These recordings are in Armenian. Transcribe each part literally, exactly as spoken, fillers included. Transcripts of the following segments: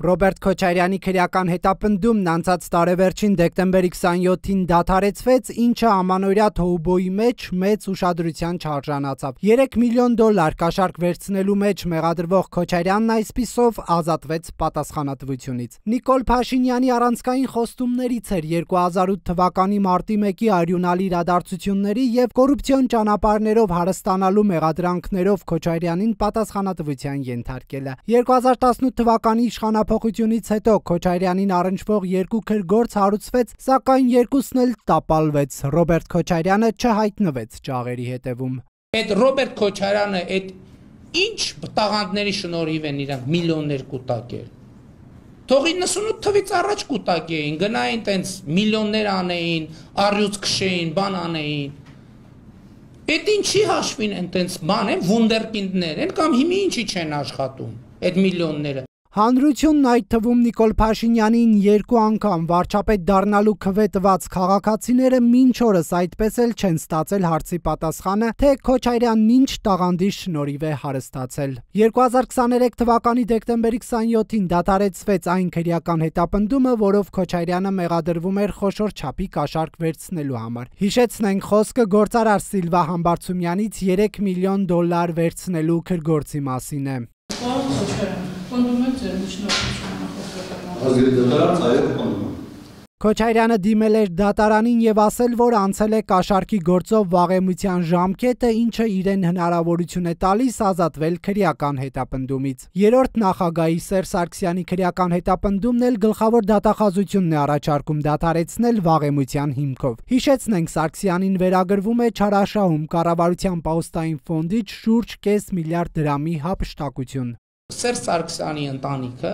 Ռոբերտ Քոչարյանի քրեական հետապնդումն անցած տարեվերջին դեկտեմբերի քսանյոթին դադարեցվեց, ինչը ամանորյա թոուբոյի մեջ մեծ ուշադրության չարժանացավ։ երեք միլիոն դոլար կաշառք վերցնելու մեջ մեղադրվող Քոչարյանն այսպիսով ազատվեց պատասխանատվությունից։ Նիկոլ Փաշինյանի առանցքային խոստումներից էր երկու հազար ութ թվականի մարտի մեկի արյունալի իրադարձությունների և կոռուպցիոն ճանապարհներով հարստանալու մեղադրանքներով Քոչարյանին պատասխանատվության ենթարկելը։ երկու հազար տասնութ թվականի իշխանափոխությունից հետո Քոչարյանին առնչվող երկու քրգործ հարուցվեց, սակայն երկուսն էլ տապալվեց։ Ռոբերտ Քոչարյանը չհայտնվեց ջաղերի հետևում։ Այդ Ռոբերտ Քոչարյանը այդ ինչ տաղանդների շնորհիվ են իրանք միլիոններ կուտակել։ Թող իննսունութ թվից առաջ կուտակեին, գնային տենց միլիոններ անեին, առյուծ քշեին, բան անեին։ Այդ ինչի հաշվին են տենց բան են, վունդերկինդներ են կամ հիմի ինչի չեն աշխատում այդ միլիոնները։ Հանրությունն, այդ թվում Նիկոլ Փաշինյանին երկու անգամ վարչապետ դառնալու քվե տված քաղաքացիները մինչ օրս այդպես էլ չեն ստացել հարցի պատասխանը, թե Քոչարյանն ինչ տաղանդի շնորհիվ է հարստացել։ երկու հազար քսաներեք թվականի դեկտեմբերի քսանյոթին դադարեցվեց այն քրեական հետապնդումը, որով Քոչարյանը մեղադրվում էր խոշոր չափի կաշառք վերցնելու համար։ Հիշեցնենք, խոսքը գործարար Սիլվա Համբարձումյանից երեք միլիոն դոլար վերցնելու քրգործի մասին է։ Քոչարյանը դիմել էր դատարանին և ասել, որ անցել է կաշառքի գործով վաղեմության ժամկետը, ինչը իրեն հնարավորություն է տալիս ազատվել քրեական հետապնդումից։ Երրորդ նախագահի Սերժ Սարգսյանի քրեական հետապնդումն էլ գլխավոր դատախազությունն է առաջարկում դադարեցնել վաղեմության հիմքով։ Հիշեցնենք, Սարգսյանին վերագրվում է չարաշահում կառավարության պահոստային ֆոնդից շուրջ կես միլիարդ դրամի հափշտակություն։ Սերժ Սարգսյանի ընտանիքը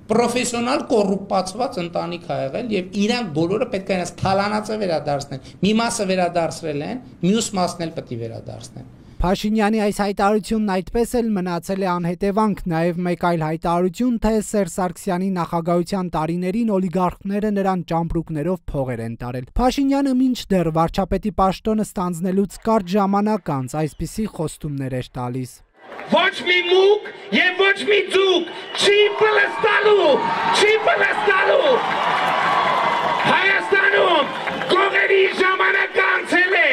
պրոֆեսիոնալ կոռուպացված ընտանիք ա եղել եւ իրանք բոլորը պետք է այնպես թալանացը վերադարձնեն։ Մի մասը վերադարձրել են, մյուս մասն էլ պետք է վերադարձնեն։ Փաշինյանի այս հայտարարությունն այդպես էլ մնացել է անհետևանք, նաև մեկ այլ հայտարարություն, թե Սերժ Սարգսյանի նախագահության տարիներին օլիգարխները նրան ճամպրուկներով փողեր են տարել։ Փաշինյանը մինչդեռ վարչապետի պաշտոնը ստանձնելուց կարճ ժամանակ անց այսպիսի խոստումներ էր տալիս։ Ոչ մի մուկ և ոչ մի ձուկ չի պլստալու, չի պլստալու, Հայաստանում գողերի ժամանակ անցել է։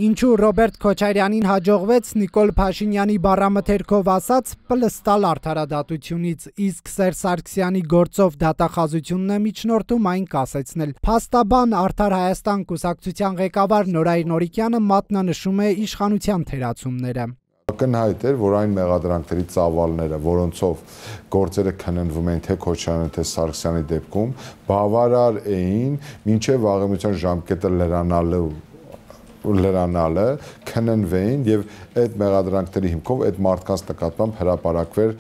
Ինչու Ռոբերտ Քոչարյանին հաջողվեց Նիկոլ Փաշինյանի բառամթերքով ասած պլստալ արդարադատությունից, իսկ Սերժ Սարգսյանի գործով դատախազությունն է միջնորդում այն կասեցնել։ Փաստաբան Արդար Հայաստան կուսակցության ղեկավար Նորայր Նորիկյանը մատնանշում է իշխանության թերացումները։ Ակնհայտ էր, որ այն մեղադրանքների ծավալները, որոնցով գործերը քննվում էին թե Քոչարյանի, թե Սարգսյանի դեպքում, բավարար էին մինչև վաղեմության ժամկետը լրանալու լրանալը քննվեին եւ այդ մեղադրանքների հիմքով այդ մարդկանց նկատմամբ հրապարակվեր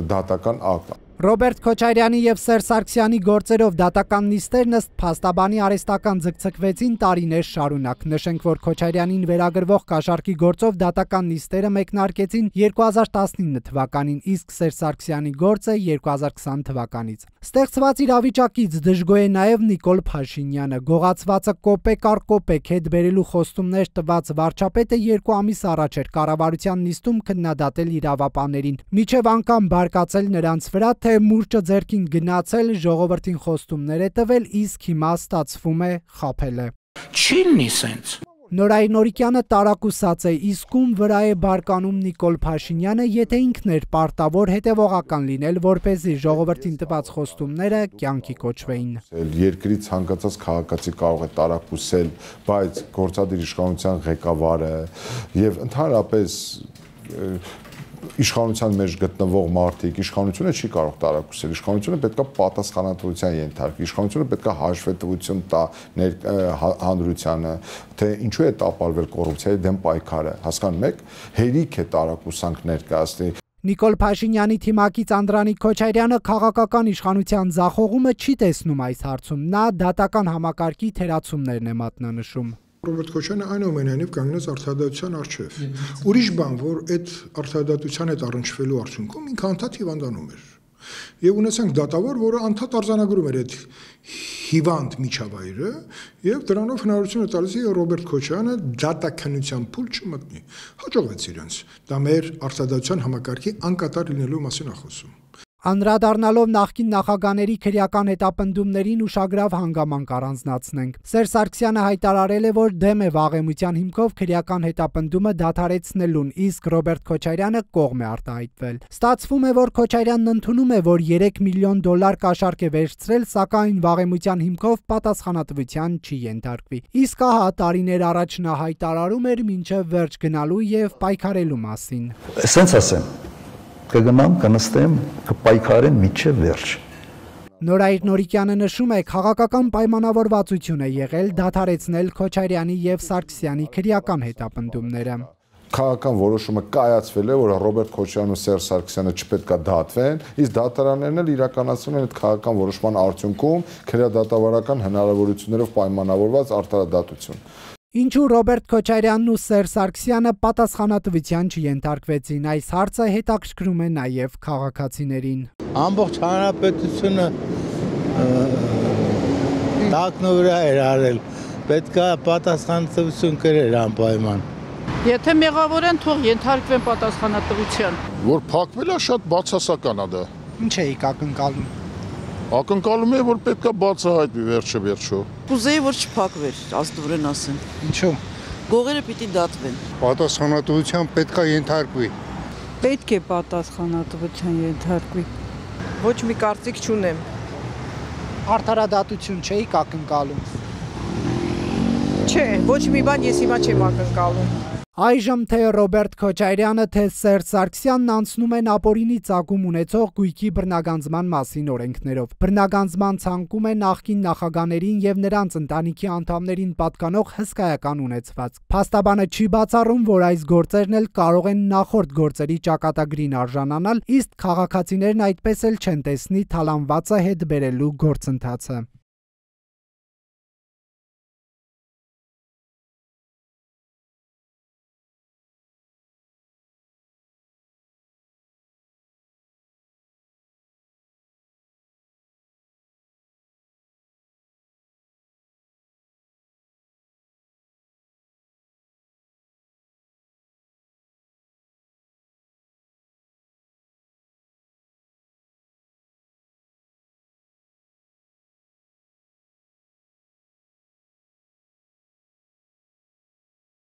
դատական ակտ։ Ռոբերտ Քոչարյանի և Սերժ Սարգսյանի գործերով դատական նիստերն ըստ փաստաբանի արհեստական ձգձգվեցին տարիներ շարունակ։ Նշենք, որ Քոչարյանին վերագրվող կաշառքի գործով դատական նիստերը մեկնարկեցին երկու հազար տասնինը թվականին, իսկ Սերժ Սարգսյանի գործը երկու հազար քսան թվականից։ Ստեղծված իրավիճակից դժգոհ է նաև Նիկոլ Փաշինյանը։ Գողացվածը կոպեկ առ կոպեկ հետ բերելու խոստումներ տված վարչապետը երկու ամիս առաջ էր կառավարության նիստում քննադատել իրավապահներին, մինչև անգամ բարկացել նրանց վրա, թե մուրճը ձեռքին գնացել, ժողովրդին խոստումներ է տվել, իսկ հիմա ստացվում է խաբել է։ Չի լինի սենց։ Նորայր Նորիկյանը տարակուսած է, իսկ ում վրա է բարկանում Նիկոլ Փաշինյանը, եթե ինքն էր պարտավոր հետևողական լինել, որպեսզի ժողովրդին տված խոստումները կյանքի կոչվեին։ Երկրի ցանկացած քաղաքացի կարող է տարակուսել, բայց գործադիր իշխանության ղեկավարը եւ ընդհանրապես իշխանության մեջ գտնվող մարդիկ, իշխանությունը չի կարող տարակուսել, իշխանությունը պետք է պատասխանատվության ենթարկվի, իշխանությունը պետք է հաշվետվություն տա հանրությանը, թե ինչու է տապալվել կոռուպցիայի դեմ պայքարը, հասկանում եք, հերիք է տարակուսանք ներկայացնի։ Նիկոլ Փաշինյանի թիմակից Անդրանիկ Քոչարյանը քաղաքական իշխանության ձախողումը չի տեսնում այս հարցում, նա դատական համակարգի թերացումներն է մատնանշում։ Ռոբերտ Քոչարյանը այնուամենայնիվ կանգնեց արդարադատության առջև։ Ուրիշ բան, որ այդ արդարադատության հետ առնչվելու արդյունքում ինքը անդադ հիվանդանում էր։ Եվ ունեցանք դատավոր, որը անդադ արձանագրում էր այդ հիվանդ միջավայրը, եւ դրանով հնարավորություն է տալիս Ռոբերտ Քոչարյանը դատաքննության փուլ չմտնի։ Հաջողվեց իրենց։ Դա մեր արդարադատության համակարգի անկատար լինելու մասին է խոսում։ Անդրադառնալով նախկին նախագաների քրեական հետապնդումներին ուշագրավ հանգամանք առանձնացնենք։ Սերժ Սարգսյանը հայտարարել է, որ դեմ է վաղեմության հիմքով քրեական հետապնդումը դադարեցնելուն, իսկ Ռոբերտ Քոչարյանը կողմ է արտահայտվել։ Ստացվում է, որ Քոչարյանն ընդունում է, որ երեք միլիոն դոլար կաշառք է վերցրել, սակայն վաղեմության հիմքով պատասխանատվության չի ենթարկվի։ Իսկ ահա տարիներ առաջ նա հայտարարում էր մինչև վերջ գնալու եւ պայքարելու մասին։ Սենց ասեմ, կգնամ, կնստեմ, կպայքարեմ մինչև վերջ։ Նորայր Նորիկյանը նշում է, քաղաքական պայմանավորվածություն է եղել դադարեցնել Քոչարյանի եւ Սարգսյանի քրեական հետապնդումները։ Քաղաքական որոշումը կայացվել է, որ Ռոբերտ Քոչարյանն ու Սերժ Սարգսյանը չպետք է դատվեն, իսկ դատարաններն էլ իրականացնում են այդ քաղաքական որոշման արդյունքում քրեադատավարական հնարավորություններով պայմանավորված արդարադատություն։ Ինչու Ռոբերտ Քոչարյանն ու Սերժ Սարգսյանը պատասխանատվության չենթարկվեցին, այս հարցը հետաքրքրում է նաև քաղաքացիներին։ Ամբողջ հանրապետությունը տակնու վրա էր արել, պետք է պատասխանատվություն կրեր անպայման։ Եթե մեղավոր են, թող ենթարկվեն պատասխանատվության։ Որ փակվել է, շատ բացասական է դա։ Ինչ էիք ակնկալում։ Ակնկալում է, որ պետք է բացահայտվի վերջը վերջո։ Կուզեի, որ չփակվեր, աստորեն ասեմ։ Ինչու։ Գողերը պիտի դատվեն։ Պատասխանատվության պետք է ենթարկվի։ Պետք է պատասխանատվության ենթարկվի։ Ոչ մի կարծիք չունեմ։ Արդարադատություն չէիք ակնկալում։ Չէ, ոչ մի բան ես հիմա չեմ ակնկալում։ Այժմ թե Ռոբերտ Քոչարյանը, թե Սերժ Սարգսյանն անցնում են ապօրինի ծագում ունեցող գույքի բռնագանձման մասին օրենքներով։ Բռնագանձման ցանկում է նախկին նախագաներին եւ նրանց ընտանիքի անդամներին պատկանող հսկայական ունեցված։ Փաստաբանը չի բացառում, որ այս գործերն էլ կարող են նախորդ գործերի ճակատագրին արժանանալ, իսկ քաղաքացիներն այդպես էլ չեն տեսնի թալանվածը հետ բերելու գործընթացը։